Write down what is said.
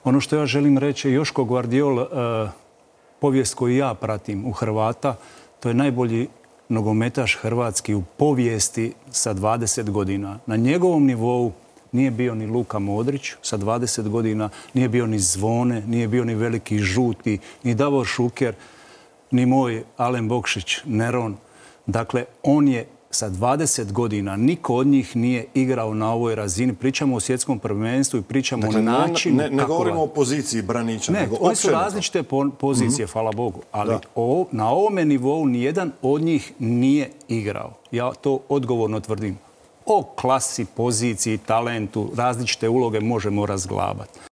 Ono što ja želim reći, Joško Gvardiol, povijest koju ja pratim u Hrvata, to je najbolji nogometaš hrvatski u povijesti sa 20 godina. Na njegovom nivou nije bio ni Luka Modrić sa 20 godina, nije bio ni Zvone, nije bio ni Veliki Žuti, ni Davor Šuker, ni moj Alen Bokšić, Neron. Dakle, on je sa 20 godina, niko od njih nije igrao na ovoj razini. Pričamo o svjetskom prvenstvu i pričamo o načinu kako... Ne govorimo o poziciji braniča, nego oni su različite pozicije, hvala Bogu. Ali na ovome nivou nijedan od njih nije igrao. Ja to odgovorno tvrdim. O klasi, poziciji, talentu, različite uloge možemo razglabati.